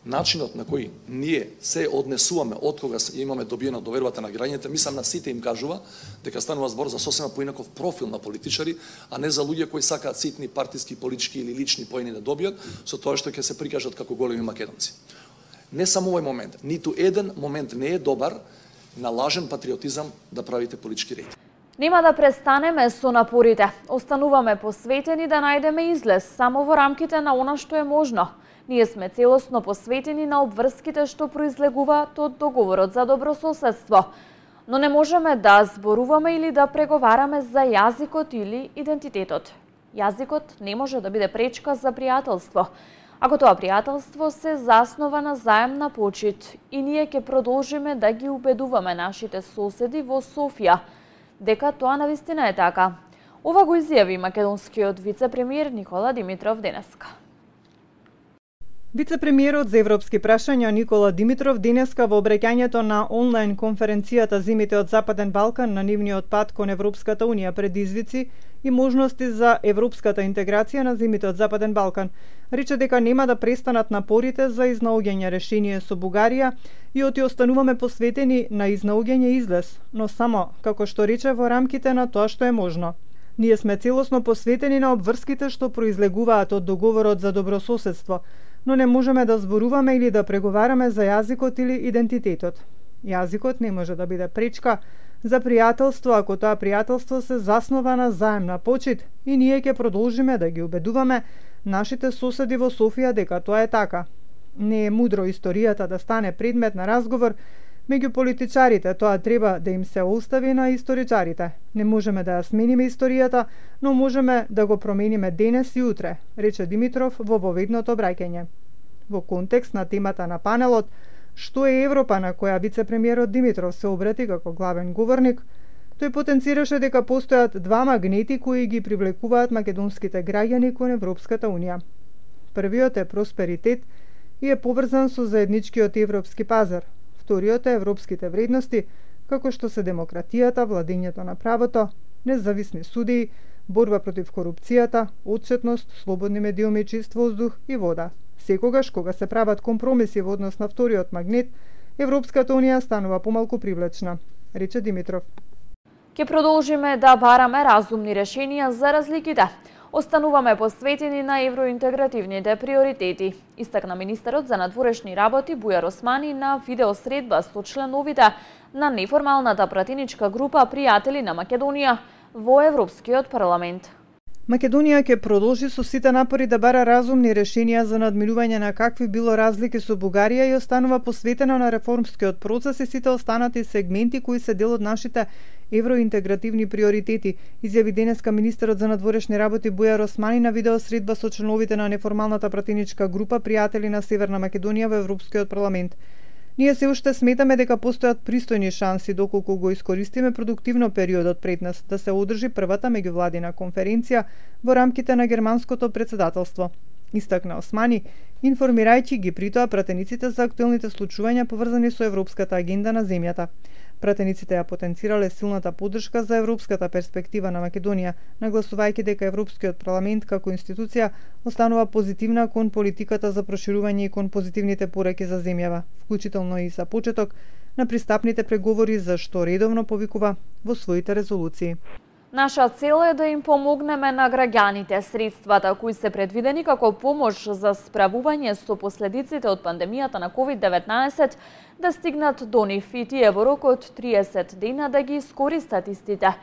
начинот на кој ние се однесуваме од кога имаме добиена довербата на граѓаните, мислам на сите им кажува дека станува збор за сосема поинаков профил на политичари, а не за луѓе кои сакаат ситни партиски, политички или лични поени да добијат со тоа што ќе се прикажат како големи македонци. Не само овој момент, ниту еден момент не е добар на лажен патриотизам да правите политички рейтинг. Нема да престанеме со напорите. Остануваме посветени да најдеме излез само во рамките на она што е можно. Ние сме целосно посветени на обврските што произлегуваат од договорот за добрососедство. Но не можеме да зборуваме или да преговараме за јазикот или идентитетот. Јазикот не може да биде пречка за пријателство. Ако тоа пријателство се заснова на заемна почит и ние ќе продолжиме да ги убедуваме нашите соседи во Софија дека тоа навистина е така. Ова го изјави македонскиот вице-премиер Никола Димитров денеска. Вице-премиерот за европски прашања Никола Димитров денеска во обраќањето на онлайн конференцијата Земите од Западен Балкан на нивниот пат кон Европската Унија предизвици и можности за европската интеграција на земите од Западен Балкан, рече дека нема да престанат напорите за изнаоѓање решение со Бугарија и оти остануваме посветени на изнаоѓање излез, но само, како што рече, во рамките на тоа што е можно. Ние сме целосно посветени на обврските што произлегуваат од договорот за добрососедство, но не можеме да зборуваме или да преговараме за јазикот или идентитетот. Јазикот не може да биде пречка за пријателство ако тоа пријателство се заснова на заемна почит и ние ќе продолжиме да ги убедуваме нашите соседи во Софија дека тоа е така. Не е мудро историјата да стане предмет на разговор меѓу политичарите, тоа треба да им се остави на историчарите. Не можеме да ја смениме историјата, но можеме да го промениме денес и утре, рече Димитров во воведното обраќање. Во контекст на темата на панелот "Што е Европа", на која вице-премиерот Димитров се обрати како главен говорник, тој потенцираше дека постојат два магнети кои ги привлекуваат македонските граѓани кон Европската Унија. Првиот е просперитет и е поврзан со заедничкиот европски пазар. Вториот е европските вредности, како што се демократијата, владењето на правото, независни судии, борба против корупцијата, отчетност, слободни медиуми, чист воздух и вода. Секогаш кога се прават компромиси во однос на вториот магнет, Европската Унија станува помалку привлечна, рече Димитров. Ке продолжиме да бараме разумни решенија за разликите. Остануваме посветени на евроинтегративните приоритети, истакна министерот за надворешни работи Бујар Османи на видеосредба со членовите на неформалната пратеничка група Пријатели на Македонија во Европскиот парламент. Македонија ќе продолжи со сите напори да бара разумни решенија за надминување на какви било разлики со Бугарија и останува посветена на реформскиот процес и сите останати сегменти кои се дел од нашите евроинтегративни приоритети, изјави денеска министерот за надворешни работи Бујар Османи на видеосредба со членовите на неформалната пратеничка група Пријатели на Северна Македонија во Европскиот парламент. Ние се уште сметаме дека постојат пристојни шанси доколку го искористиме продуктивно периодот пред нас да се одржи првата меѓувладина конференција во рамките на германското претседателство. Истакна Османи, информирајќи ги притоа пратениците за актуелните случувања поврзани со европската агенда на земјата. Пратениците ја потенцирале силната поддршка за европската перспектива на Македонија, нагласувајќи дека Европскиот парламент како институција останува позитивна кон политиката за проширување и кон позитивните пораки за земјава, вклучително и за почеток на пристапните преговори за што редовно повикува во своите резолуции. Наша цел е да им помогнеме на граѓаните. Средствата кои се предвидени како помош за справување со последиците од пандемијата на COVID-19 да стигнат до нив и тие во рок од 30 дена да ги искористат истите.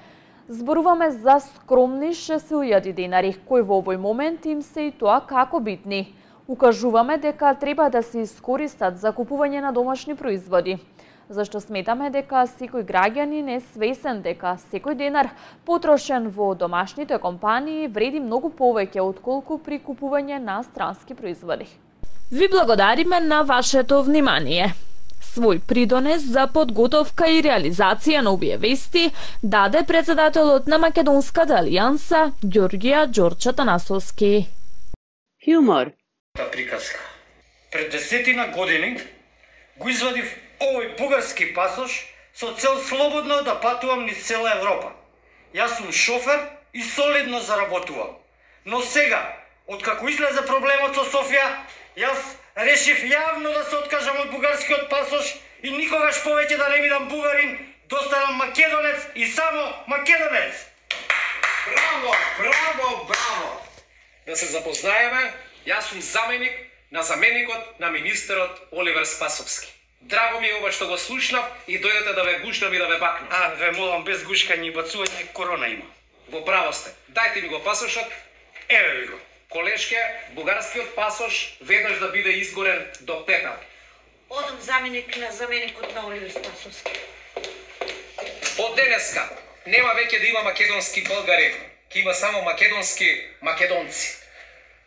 Зборуваме за скромни 6.000 денари, кои во овој момент им се и тоа како битни. Укажуваме дека треба да се искористат за купување на домашни производи. Зашто сметаме дека секој граѓанин е свесен дека секој денар потрошен во домашните компании вреди многу повеќе отколку при купување на странски производи. Ви благодариме на вашето внимание. Свој придонес за подготовка и реализација на овие вести даде председателот на Македонската алијанса Ѓорѓија Ѓорче Танасовски. Хумор. Приказка. Пред 10 години го извадив овој бугарски пасош со цел слободно да патувам низ цела Европа. Јас сум шофер и солидно заработувам. Но сега, откако излезе проблемот со Софија, јас решив јавно да се откажам од бугарскиот пасош и никогаш повеќе да не бидам бугарин, да останам македонец и само македонец. Браво, браво, браво! Да се запознаеме, јас сум заменик на заменикот на министерот Оливер Спасовски. Драго ми е ова што го слушнав и дојдете да ве гушнам и да ве бакнам. Ве молам, без гушкање и бацување, корона има. Во право сте. Дајте ми го пасошот. Еве ви го. Колешке, бугарскиот пасош веднаш да биде изгорен до пепел. Одам заменикот на Оливер Спасовски. Од денеска нема веќе да има македонски българи, ќе има само македонски македонци.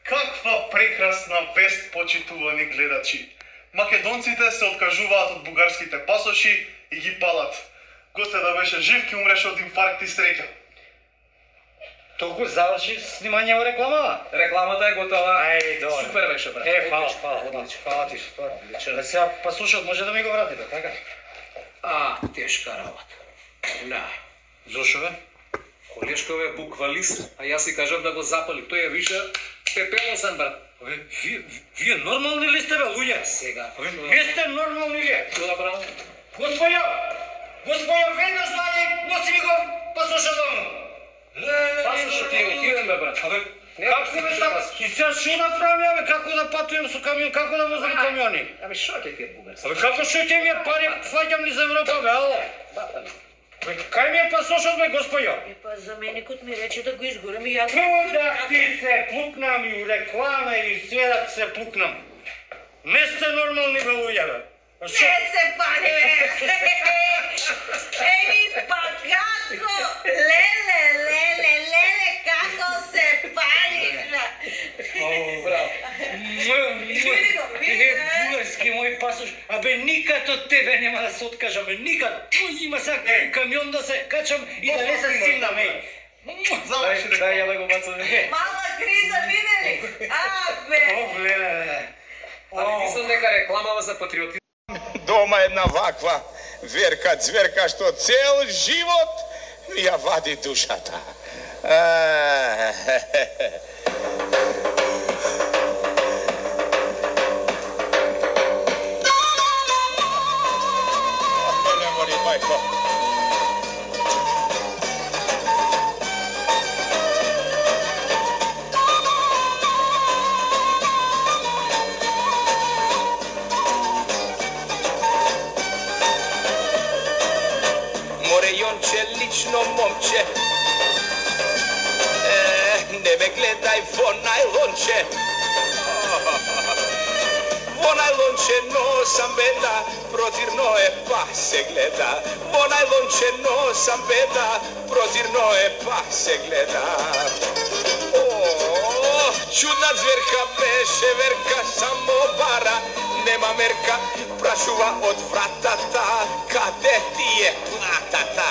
Каква прекрасна вест, почитувани гледачи! Македонците се откажуваат од бугарските пасоши и ги палат. Гоце да беше жив, ќе умреше од инфаркт и среќа. Толку заврши снимање во рекламава? Рекламата е готова. Ај, добре. Супер беше, брат. Фала ти. Одлично. Сега пасошот може да ми го вратите, така? Тешка работа. Да. Зошо бе? Колешкове е буквалист, а јас си кажав да го запали. Тој е више пепелосен, брат. Вие нормални ли сте, бе, луѓе? Сега. Не сте нормални ли? Добра. Господја, веднаш најде, носи ми го пасошот дома. Пасошот ти е отиден, бе, брат. Како бе така? И сега шо направам ја, бе, како да патувам со камион, како да возам камиони? Шо ќе ти е бугарски? Како шо ќе ми е пари, фаќам ни за Европа, бе, ало? Кај ми е пасошот, бе, господјо? Заменикот ми рече да го изгорам и јас... Да ти се пукнам и у реклама и све да се пукнам. Не сте нормални, бе, луѓе, бе. Не се пали, бе! Еми, па како? Леле, како се палиш, бе! Браво. Бугарски мој пасош, абе никад од тебе нема да се откажам, никад. Има сега камион да се качам и да не се стигнам, Дај ја да го бацам. Мала криза видели? Абе! Леле. Али мислам дека рекламава за патриотизм. Дома една ваква верка, цверка што цел живот ми ја вади душата. Не мори, мајко. Лично момче, не ме гледај во најлонче. Во најлонче носам беда, прозирно е па се гледа. Во најлонче носам беда, прозирно е па се гледа. Чудна зверка беше верка, само бара, нема мерка, прашува од вратата, каде ти е платата?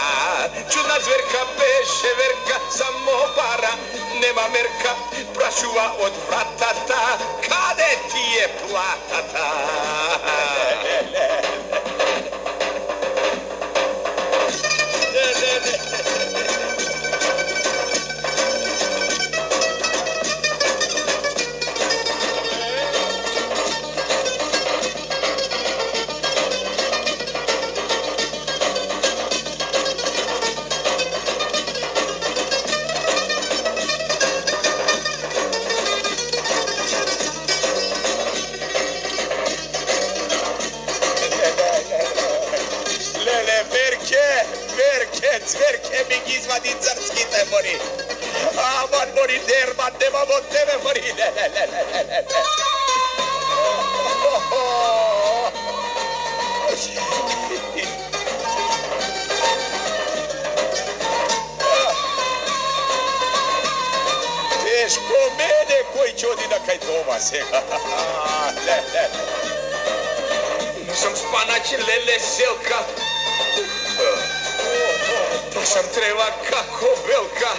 Чудна зверка беше верка, само бара, нема мерка, прашува од вратата, каде ти е платата? Цверке ми ги извади црските мори. Аман мори дерман, немам од тебе мори. Тешко мене кој ќе оди на кај дома сега. Сум спанач леле селка. Носам трева како белка,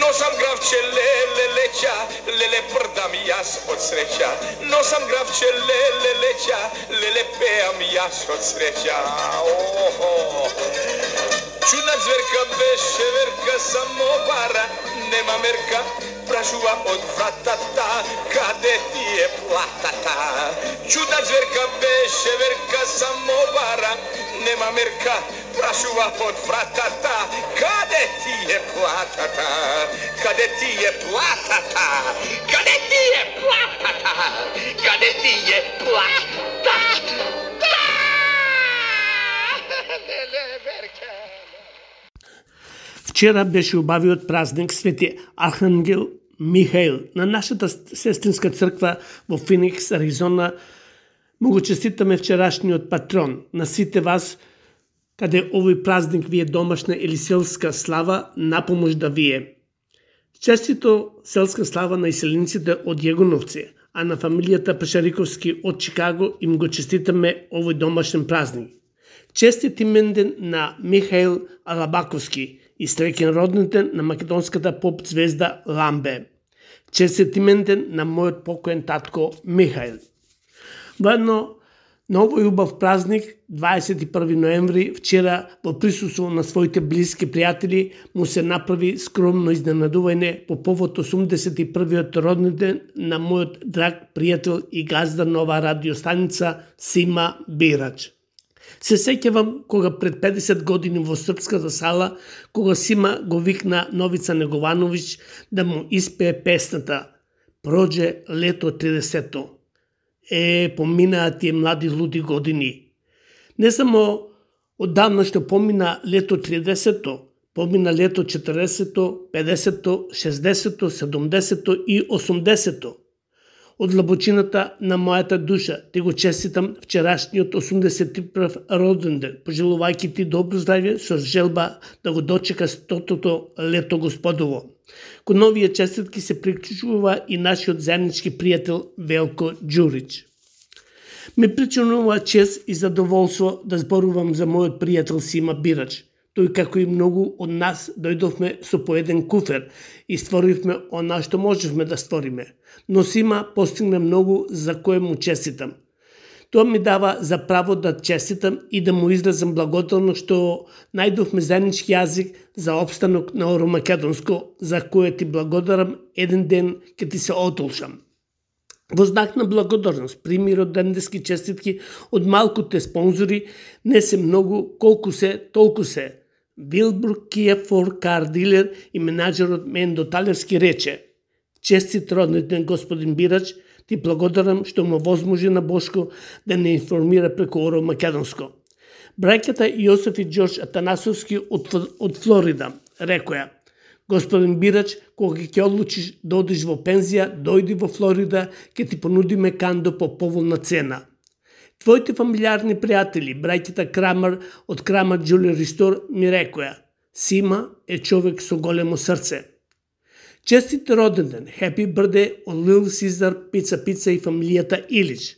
носам гравче леле леќа, леле прдам јас од среќа. Носам гравче леле леќа, леле пеам јас од среќа. Чудна зверка беше верка, само бара, нема мерка, прашува од вратата, каде ти е платата? Чудна зверка беше верка, само бара, нема мерка, прашува од вратата, каде ти е платата? Каде ти е платата? Каде ти е платата? Каде ти е платата? Вчера беше убавиот празник Свети Архангел Михаил на нашата сестринска црква во Феникс, Аризона. Му го честитаме вчерашниот патрон на сите вас, каде овој празник ви е домашна или селска слава, напомош да ви е. Честито селска слава на иселениците од Јегоновци, а на фамилијата Пашариковски од Чикаго им го честитаме овој домашен празник. Честит именден на Михаил Алабаковски и среќен роднитен на македонската поп звезда Ламбе. Честит именден на мојот покоен татко Михаил. Воедно, на овој убав празник, 21 ноември, вчера во присуство на своите блиски пријатели, му се направи скромно изненадување по повод 81-иот родниден на мојот драг пријател и газда на оваа радиостаница Сима Бирач. Се сеќавам кога пред 50 години во Српската сала, кога Сима го викна Новица Неговановиќ да му испее песната "Проđe лето 30-то". Поминаа тие млади луди години. Не само оддавна што помина лето 30-то, помина лето 40-то, 50-то, 60-то, 70-то и 80-то. Од длабочината на мојата душа ти го честитам вчерашниот 81 роден ден, пожелувајќи ти добро здравје со желба да го дочека 100-то лето Господово. Кон новија честитки се приклучува и нашиот заеднички пријател Велко Ѓурич. Ме причинува чест и задоволство да зборувам за мојот пријател Сима Бирач. Тој, како и многу од нас, дојдовме со по еден куфер и створивме она што можевме да створиме. Но Сима постигна многу за кое му честитам. Тоа ми дава за право да честитам и да му изразам благодарно што најдовме заеднички јазик за опстанок на оромакедонско, за кое ти благодарам, еден ден ке ти се отолшам. Во знак на благодарност, пример од дендески честитки од малкуте спонзори, не се многу, колку се, толку се. Вилбур Кија Фор Кар Дилер и менаџерот Мендо Талевски рече: "Честит родниден господин Бирач, ти благодарам што му возможи на Бошко да не информира преку Оро Македонско." Браќата Јосеф и Ѓорџ Атанасовски од Флорида рекоја: "Господин Бирач, кога ќе одлучиш да одиш во пензија, дојди во Флорида, ќе ти понудиме кандо по поволна цена." Твоите фамилиарни пријатели, браќата Крамер од Крамер Џулери Стор, ми рекоја: "Сима е човек со големо срце." Честит роден ден, Happy Birthday од Лил Сизар Пица и фамилијата Илич.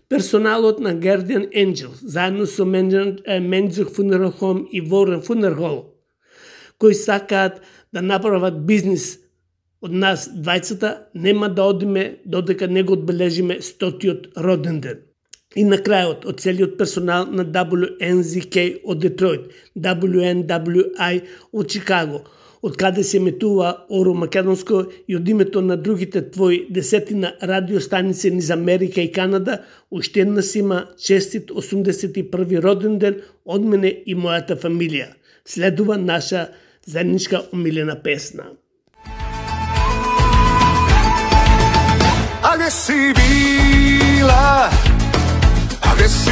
Персоналот на Guardian Angel, заедно со Менџур Funeral Home и Ворен Funeral Hall, кои сакаат да направат бизнис од нас двајцата, нема да одиме додека не го одбележиме 100-тиот роден ден. И на крајот, од целиот персонал на WNZK од Детройт, WNWI од Чикаго, од каде се еметува Оро Македонско, и од името на другите твои десетина радиостаници низ Америка и Канада, уште една Сима честит 81 роден ден од мене и мојата фамилија. Следува наша заедничка омилена песна. A gde si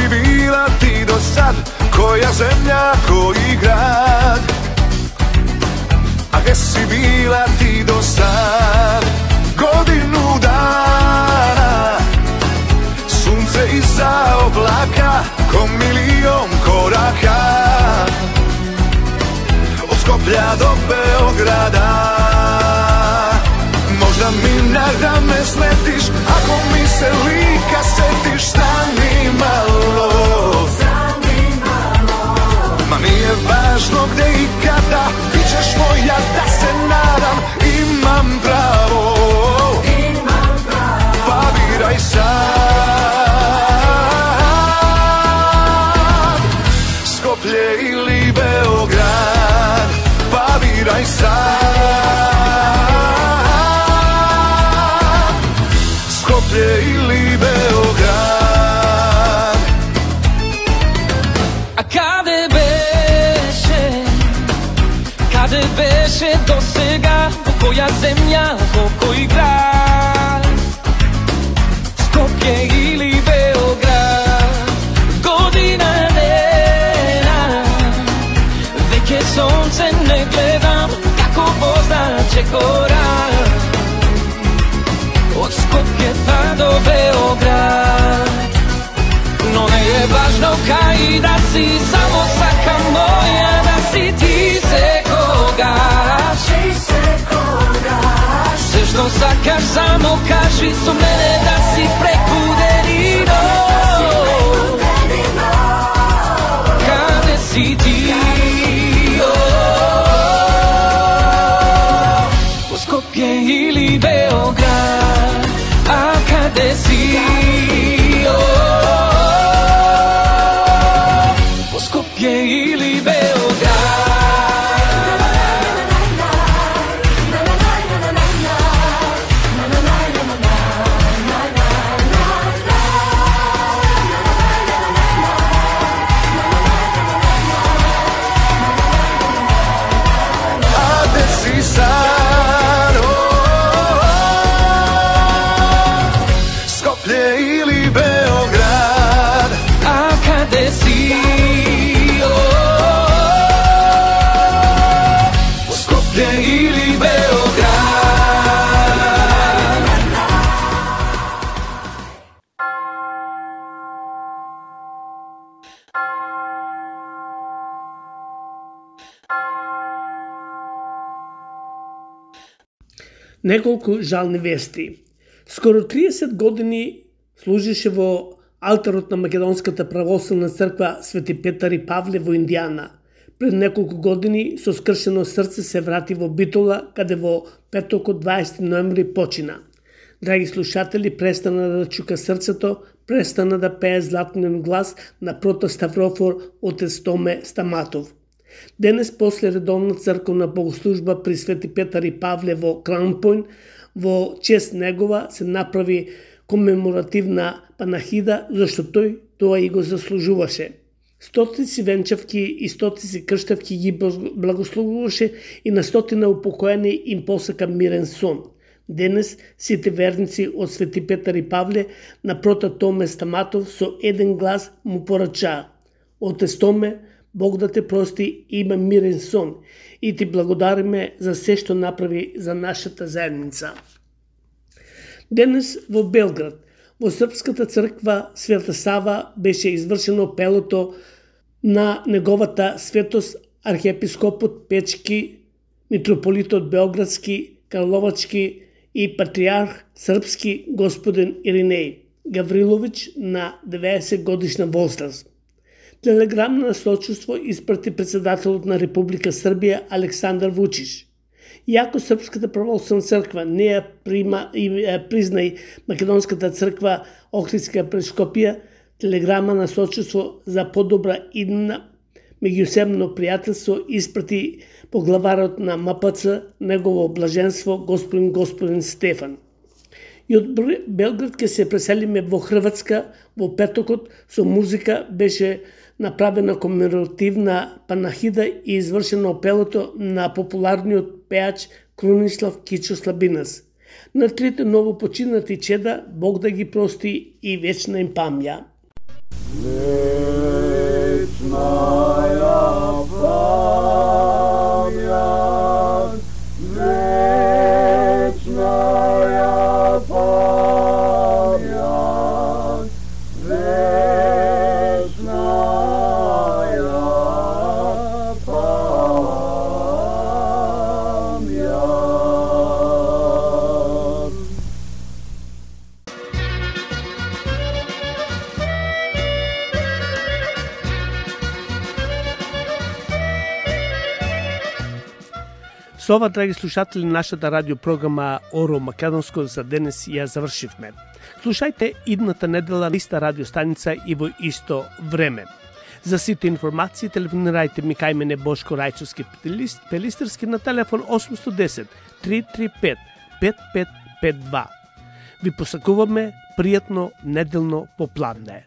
bila ti do sad, koja zemlja, koji grad? A gde si bila ti do sad, godinu dana? Sunce iza oblaka, ko milion koraka, od Skoplja do Beograda. Možda mi da me sletiš, ako mi se lika setiš, stani malo. Ma nije važno gde i kada, bit ćeš moja, da se nadam, imam pravo. Pa biraj sad, Skoplje ili Beograd, pa biraj sad. Ili Beograd. A kade beše do сега, koja zemlja, koji grad? Skopje ili Beograd, godina dena, veke sonce ne gledam, чекора од Скопје па до Београд. Но не е важно кај да си, само сакам моја да си ти секогаш. Се што сакаш само кажи, со мене да си преку делино. Каде си ти? Во Скопје или Београд, а каде си? Во Скопје или Београд. Неколку жални вести. Скоро 30 години служише во алтарот на Македонската православна црква Свети Петар и Павле во Индијана. Пред неколку години со скршено срце се врати во Битола, каде во петокот 20 ноември почина. Драги слушатели, престана да чука срцето, престана да пее златнен глас на протоставрофор отец Томе Стаматов. Денес, после редовна црковна богослужба при Свети Петар и Павле во Крампојн, во чест негова се направи комеморативна панахида, зашто тој тоа и го заслужуваше. Стотици венчавки и стотици крштавки ги благословуваше и на стотина упокоени им посака мирен сон. Денес сите верници од Свети Петар и Павле на прота Томе Стаматов со еден глас му порачаа: Отец Томе, Бог да те прости, има мирен сон и ти благодариме за се што направи за нашата заедница. Денес во Белград, во Српската црква Света Сава беше извршено пелото на неговата светост архиепископот Печки, митрополитот Белградски, Карловачки и патриарх српски господин Иринеј Гаврилович на 90 годишна возраст. Телеграм на сочувство испрати председателот на Република Србија Александар Вучич. Иако Српската православна црква не ја признај Македонската црква Охридска епископија, телеграма на сочувство за подобра иднина меѓусебно пријателство испрати поглаварот на МПЦ, негово блаженство господин Стефан. И од Белград ке се преселиме во Хрватска. Во петокот со музика беше направена комеморативна панахида и извршено пелото на популарниот пеач Крунислав Кичо Слабинас. На трите новопочинати чеда Бог да ги прости и вечна им памја. Со ова, драги слушатели, нашата радиопрограма Оро Македонско за денес ја завршивме. Слушајте идната недела на иста радиостаница и во исто време. За сите информации телефонирајте ми кај мене Бошко Рајчовски Пелистерски на телефон 810 335 5552. Ви посакуваме пријатно неделно попладне.